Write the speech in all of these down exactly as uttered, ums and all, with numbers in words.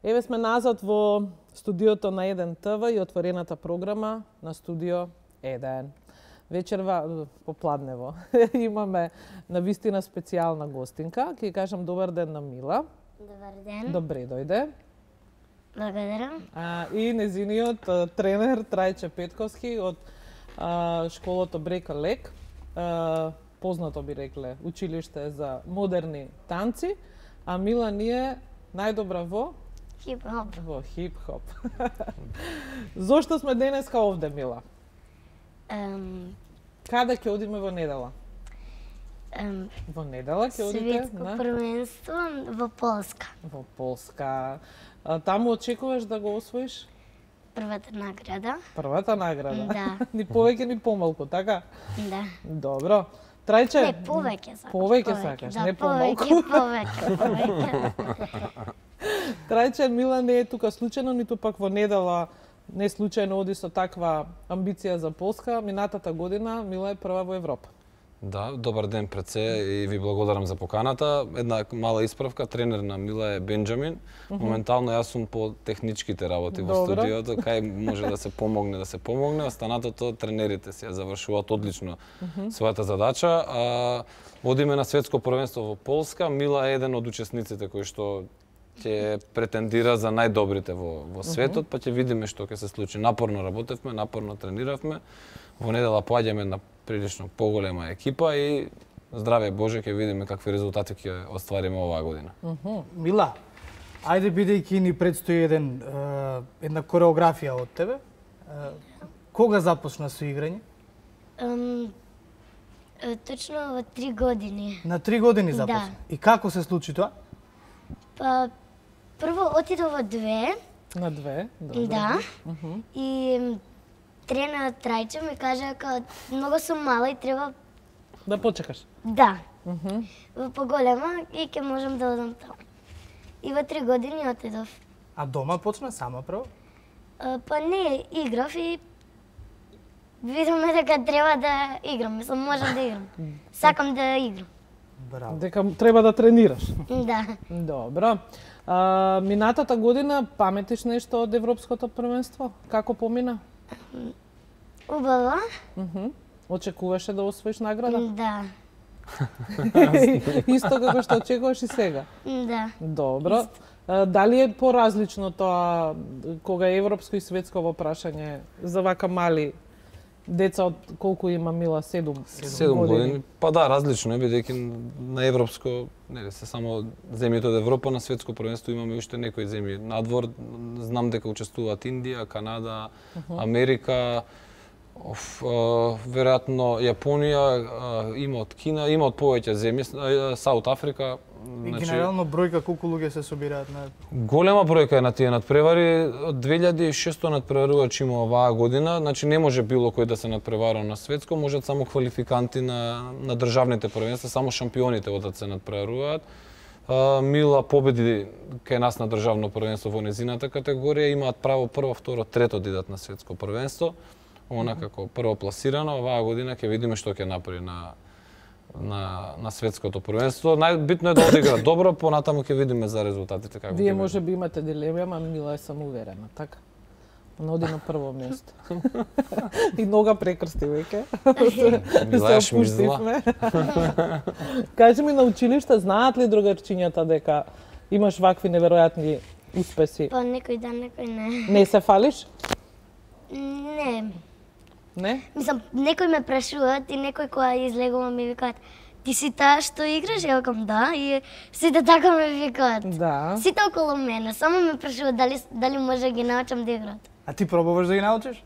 Еве сме назад во студиото на еден ТВ и отворената програма на студио еден. Вечерва попладнево имаме навистина специјална гостинка. Ќе кажам добар ден на Мила. Добар ден. Добре дојде. Благодарам. А, и незиниот а, тренер Трајче Петковски од а, школото Брека Лек. А, познато би рекле училиште за модерни танци, а Мила ни е најдобра во хип-хоп. Во хип-хоп. Зошто сме денеска овде, Мила? Um, Каде ќе одиме во недела? um, Во недела ќе одите Светско на првенство во Полска. во Полска. А, таму очекуваш да го освоиш Првата награда. првата награда? Да. Ни повеќе ни помалку, така? Да. Добро. Трајче? Не, повеќе сакаш. Повеќе сакаш, да, не помалку. Повеќе, повеќе, повеќе. Трајче, Мила не е тука случајно, ниту пак во недела не случајно оди со таква амбиција за Полска. Минатата година Мила е прва во Европа. Да, добар ден пред се и ви благодарам за поканата. Една мала исправка, тренер на Мила е Бенџамин. Моментално јас сум по техничките работи во Добро. студиото, кај може да се помогне, да се помогне, останатото тренерите се завршуваат одлично својата задача. А, одиме на светско првенство во Полска. Мила е еден од учесниците кои што ќе претендира за најдобрите во, во светот, па ќе видиме што ќе се случи. Напорно работевме, напорно трениравме. Во недела поаѓаме на прилично поголема екипа и здраве Боже ќе видиме какви резултати ќе оствариме оваа година. Мила, ајде бидејќи ни предстои еден е, една кореографија од тебе. Е, кога започна со играње? Um, точно во три години. На три години Да. започна. И како се случи тоа? Па, прво отидов во две, На две, добро. да, и м, тренерот Трајче ми кажа дека многу сум мала и треба Да почекаш. да, во поголема и ќе можам да одам таму. И во три години отидов. А дома почна сама прво? А, Па не, играв и видовме дека треба да играм, мислам можам да играм. Сакам да играм. Браво. Дека треба да тренираш. Да. Добро. А, минатата година паметиш нешто од Европското првенство? Како помина? Убава? Мгм. Очекуваше да освоиш награда? Да. Исто како што очекуваш и сега. Да. Добро. А, дали е поразлично тоа кога е европско и светско во прашање за вака мали деца од колку има Мила? Седум. Седум години. Па да, различно е, бидејќи на европско, нели, се само земјите од Европа, на светско првенство имаме уште некои земји надвор. Знам дека учествуваат Индија, Канада, Америка, оф, а, веројатно Јапонија, а, има од Кина, има од повеќе земји, а, Саут Африка. И генерално бројка колку луѓе се собираат на Голема бројка е на тие надпревари. Од две илјади и шестsto надпреварувачи има оваа година. Значи не може било кој да се надпревара на светско, можат само квалификанти на на државните првенства, само шампионите одат се надпреваруваат. А, Мила победи кај нас на државно првенство во незината категорија, имаат право прво, второ, трето да идат на светско првенство. Она како прво пласирана, оваа година ќе видиме што ќе направи на на на светското првенство. Најбитно е да одигра добро, понатаму ќе видиме за резултатите како. Вие ќе може би имате дилема, ама Мила е самоуверена, така? Она оди на прво место. И нога прекрсти веќе. Мила е Се шмизла. опуштивме. Кажи ми, на училиште знаат ли другарчињата дека имаш вакви неверојатни успеси? Па некој да, некој не. Не се фалиш? Не. Не? Мислам, некој ме прашуваат и некој кога излегувам ми викаат ти си таа што играш? Ја викам да и сите така ме викаат. Да. Сите околу мене, само ме прашуваат дали дали може да ги научам да играат. А ти пробуваш да ги научиш?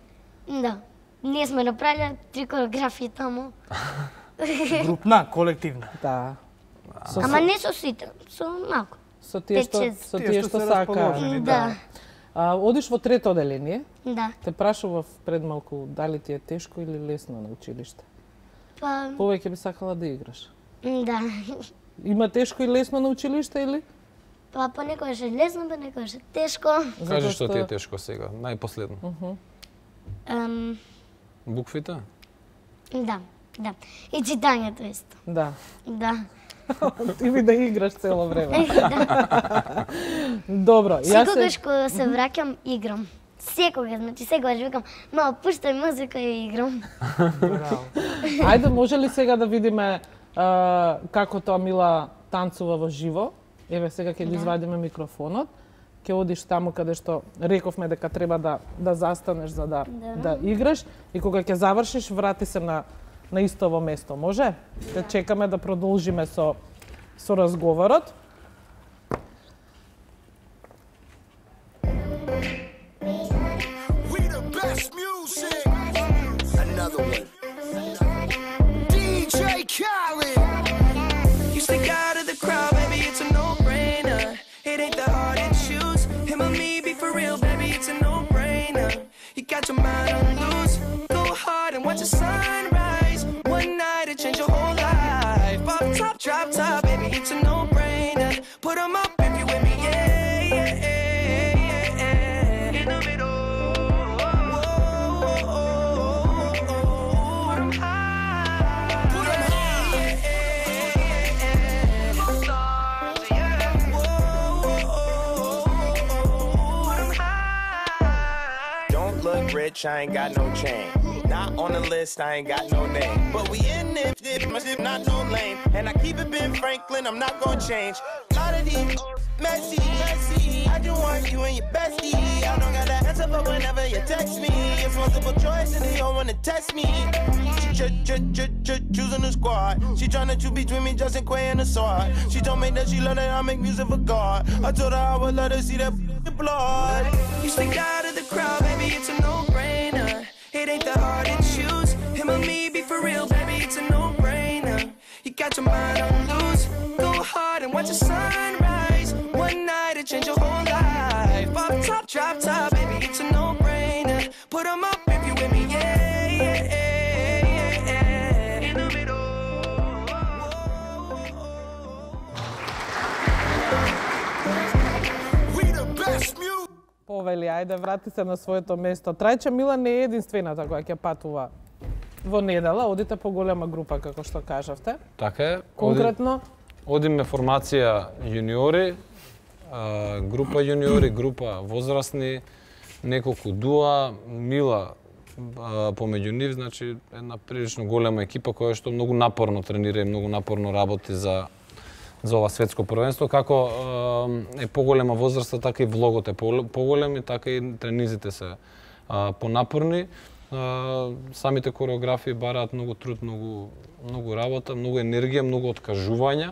Да. Ние сме направиле три кореографии таму. Групна, колективна. Да. Со, Ама не со сите, со малку. со тие што пет-шест. со Тие тие што што се сакаат. расположени, Да. А, одиш во трето оделение. Да. Те прашував пред малку дали ти е тешко или лесно на училиште. Па Повеќе би сакала да играш. да. Има тешко и лесно на училиште или? Па понекогаш е лесно, понекогаш е тешко. Кажи што ти е тешко сега, најпоследно. Ем, Буквите? да, да. И читањето исто. Да. Да. Ти ми да играш цело време. Добро, јас се... Секогаш кога се враќам, играм. Секогаш, значи секогаш викам, мама, пуштај музика и играм. Ајде, може ли сега да видиме а, како тоа Мила танцува во живо? Еве, сега ќе ги извадиме микрофонот. Ќе одиш таму каде што рековме дека треба да да застанеш за да да играш и кога ќе завршиш, врати се на на истово место, може? Те чекаме да продолжиме со со разговорот. We the best music. Another one. D J Khaled. You stick out of the crowd, baby, it's a no-brainer. It ain't that hard to choose. Him or me, be for real, baby, it's a no-brainer. You got your mind on loose. Go hard and watch the sunrise. One night it change your whole life. Pop top, drop top, baby, it's a no-brainer. Put 'em up if you with me, yeah, yeah, yeah, yeah. In the middle. Rich, I ain't got no chain. Not on the list, I ain't got no name. But we in it, it must have not no lame. And I keep it Ben Franklin, I'm not gonna change. Lot of these messy, messy. I just want you and your bestie. I don't got the answer for whenever you text me. It's multiple choice and they don't wanna test me. She ch ch ch ch choosing the squad. She tryna choose between me, Justin Quay and the sword. She told me that she love that I make music for God. I told her I would let her see that blood. You stick out of the crowd, baby, it's a no-brainer. It ain't that hard to choose. Him or me, be for real, baby, it's a no-brainer. You got your mind on loose. Go hard and watch the sunrise. One night it change your whole life. Pop top, drop top, baby, it's a no-brainer. Put 'em up if you with me, yeah, yeah, yeah, yeah. In the middle. We the best music. Повели, ајде, врати се на своето место. Трајче Мила не е единствената која ќе патува во недела. Одите по голема група, како што кажавте. Така е. Конкретно? Одиме формација јуниори, а, група јуниори, група возрастни, неколку дуа, Мила а, помеѓу нив, значи една прилично голема екипа која што многу напорно тренира и многу напорно работи за за ова светско првенство, како е поголема возраста, така и влогот е поголем и така и тренизите се а, понапорни. А, самите кореографии бараат многу труд, многу многу работа, многу енергија, многу откажувања.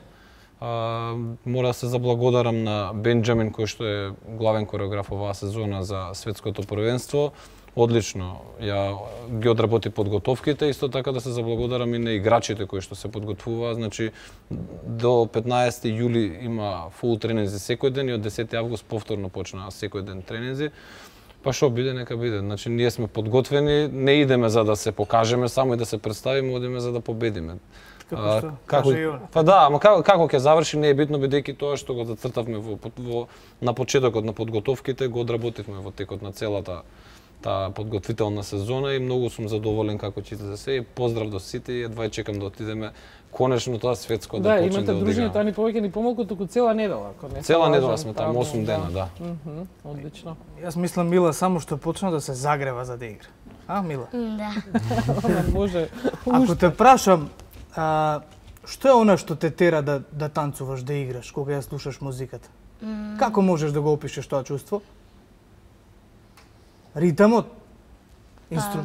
А, мора да се заблагодарам на Бенџамин кој што е главен кореограф оваа сезона за светското првенство. Одлично ја ги одработи подготовките, исто така да се заблагодарам и на играчите кои што се подготвуваат. Значи до петнаесети јули има фул тренинзи секој ден и од десети август повторно почнаа секој ден тренинзи. Па што биде, нека биде. Значи ние сме подготвени, не идеме за да се покажеме, само и да се представиме, одиме за да победиме. Како што како, каже и он. Па да, ама како, како ќе заврши не е битно, бидејќи тоа што го зацртавме во, во на почетокот на подготовките, го одработивме во текот на целата таа подготвителна сезона и многу сум задоволен како ќе се се. Поздрав до сите и едва чекам да отидеме конечно тоа светско да, да почне да имате дружење, тоа ни повеќе ни помалку, туку цела недела, ако не се Цела лажам, недела сме таму, осум дена, да. Мгм, одлично. Јас мислам Мила само што почна да се загрева за да игра. А, Мила? Да. Ама може. Ако те прашам, а, што е она што те тера да да танцуваш, да играш кога ја слушаш музиката? Mm. Како можеш да го опишеш тоа чувство? Ритамот? Инстру...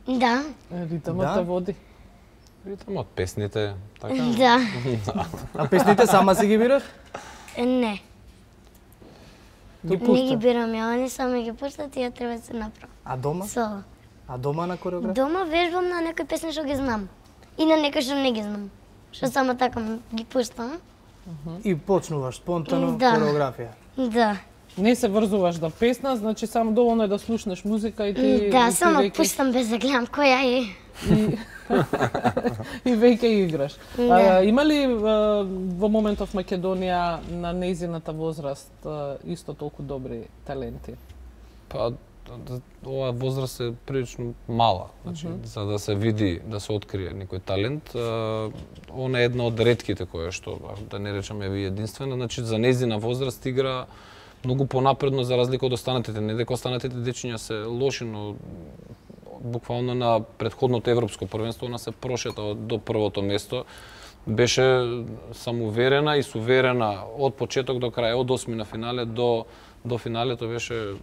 Да. Ритамот Да? те води. Ритамот, песните, така. Да. А песните сама си ги бираш? Е, Не. Ги Не ги пушта. бирам ја, они сами ги пуштат и ја треба да се направам. А дома? Соло. А дома на кореографија? Дома вежбам на некои песни што ги знам. И на некои што не ги знам. Што само така ги пуштам. И почнуваш спонтано Да. кореографија. Да. Не се врзуваш да песна, значи само доволно е да слушнеш музика и ти Да, и ти само веќе- пуштам без да гледам која е. и, и веќе играш. Да. А, има ли а, во моментов Македонија на нејзината возраст а, исто толку добри таленти? Па оваа возраст е прилично мала, значи mm -hmm. за да се види, да се открие некој талент, она е една од ретките која што, да не речеме ви единствена, значи за нејзина возраст игра многу понапредно за разлика од останатите. Не дека останатите дечиња се лоши, но буквално на претходното европско првенство она се прошета до првото место. Беше самоуверена и суверена од почеток до крај, од осми на финале до до финалето беше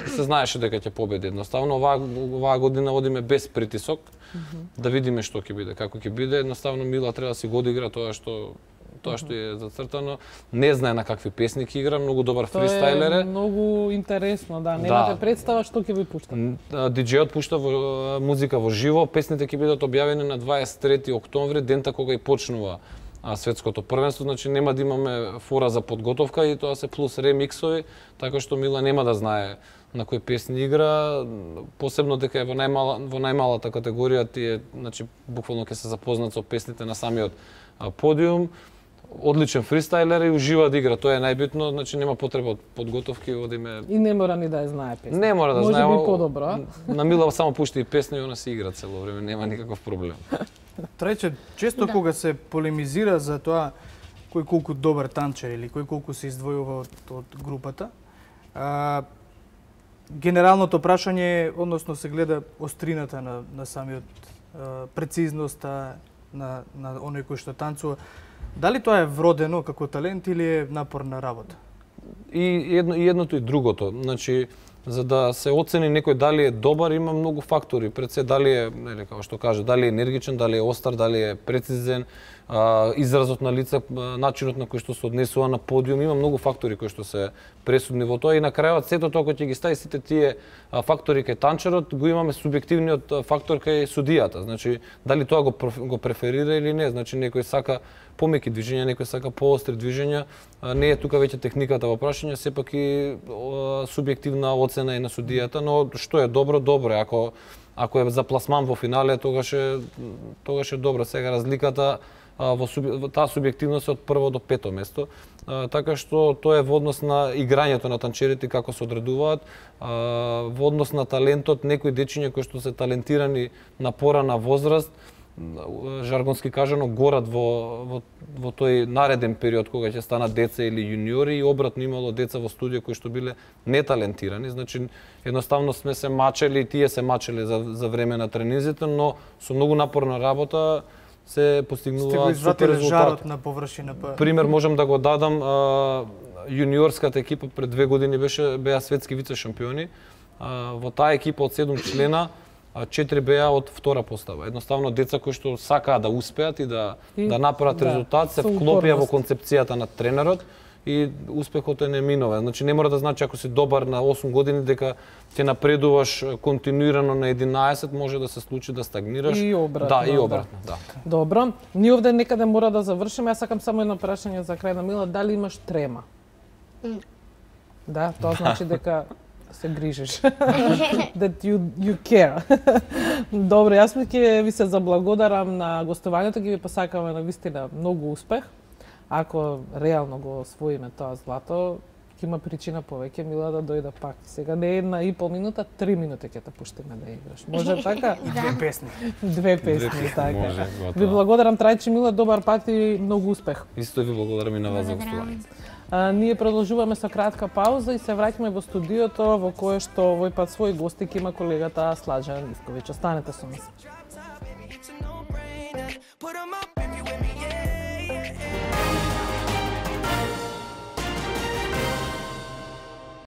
се знаеше дека ќе победи. Едноставно оваа оваа година одиме без притисок, mm -hmm. да видиме што ќе биде, како ќе биде. Едноставно Мила треба да си го одигра тоа што тоа што е зацртано. Не знае на какви песни ќе игра, многу добар фристайлер е. Многу интересно, да, немате да. представа што ќе ви пушта. Диџејот пушта во, музика во живо, песните ќе бидат објавени на дваесет и трети октомври, дента кога и почнува а, светското првенство, значи нема да имаме фора за подготовка и тоа се плюс ремиксови, така што Мила нема да знае на кои песни игра, посебно дека е во најмала во најмалата категорија, тие значи буквално ќе се запознат со песните на самиот а, подиум. Одличен фристайлер и ужива да игра, тоа е најбитно, значи нема потреба од подготовки, одиме. И не мора ни да ја знае песни. Не мора да Може знае. Може би подобро. На Мила само пушти и песни и она си игра цело време, нема никаков проблем. Трајче, често да. кога се полемизира за тоа кој колку добар танчер или кој колку се издвојува од, од групата, а, генералното прашање, односно се гледа острината на, на самиот а, прецизноста на, на оној кој што танцува. Дали тоа е вродено како талент или е напорна работа? И едно и едното и другото. Значи, за да се оцени некој дали е добар, има многу фактори. Пред се дали е, нели како што каже, дали е енергичен, дали е остар, дали е прецизен, а, изразот на лице, начинот на кој што се однесува на подиум, има многу фактори кои што се пресудни во тоа и на крајот сето тоа кој ќе ги стави сите тие фактори кај танчерот, го имаме субјективниот фактор кај судијата. Значи, дали тоа го го преферира или не, значи некој сака помеки движења, некој сака поостри движења, не е тука веќе техниката во прашање, сепак и субјективна оцена и на судијата, но што е добро, добро е. Ако ако е за пласман во финале, тогаш е тогаш е добро. Сега разликата во таа субјективност од прво до пето место, така што тоа е во однос на играњето на танчерите како се одредуваат, во однос на талентот, некои дечиња кои што се талентирани на порана возраст, жаргонски кажано, горат во, во, во тој нареден период кога ќе станат деца или јуниори и обратно имало деца во студија кои што биле неталентирани. Значи, едноставно сме се мачели и тие се мачели за, за време на тренизите, но со многу напорна работа се постигнуваат супер резултати. Жарот на површина. Па... Пример можам да го дадам, а, јуниорската екипа пред две години беше беа светски вице шампиони. А, во таа екипа од седум члена четири беа од втора постава. Едноставно деца кои што сакаат да успеат и да и, да направат да, резултат, се вклопија во концепцијата на тренерот и успехот е неминовен. Значи не мора да значи ако си добар на осум години дека ќе напредуваш континуирано на единаесет, може да се случи да стагнираш. И обратно. Да, и обратно, да. да. Добро. Ние овде некаде мора да завршиме. Јас сакам само едно прашање за крај на Мила, дали имаш трема? Mm. Да, тоа значи дека се грижиш. That you you care. Добро, јас ми ќе ви се заблагодарам на гостувањето, ќе ви посакаме на вистина многу успех. Ако реално го освоиме тоа злато, ќе има причина повеќе Мила да дојде пак. Сега не една и пол минута, три минути ќе те пуштиме да играш. Може така? Две песни. Две песни, Две така. Може, ви благодарам Трајче Мила, добар пат и многу успех. Исто ви благодарам и на вас за гостување. А, ние продолжуваме со кратка пауза и се враќаме во студиото во кое што овој пат свој гости ќе има колегата Slađan Ivković. Останете со нас.